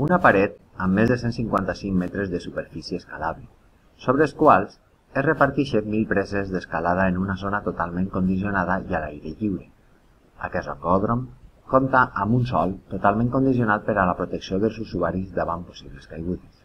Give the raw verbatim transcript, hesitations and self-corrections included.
una paret amb més de cent cinquanta-cinc metres de superfície escalable, sobre els quals es reparteixen mil preses d'escalada en una zona totalment condicionada i a l'aire lliure. Aquest rocòdrom compta amb un sòl totalment condicionat per a la protecció dels usuaris davant possibles caigudes.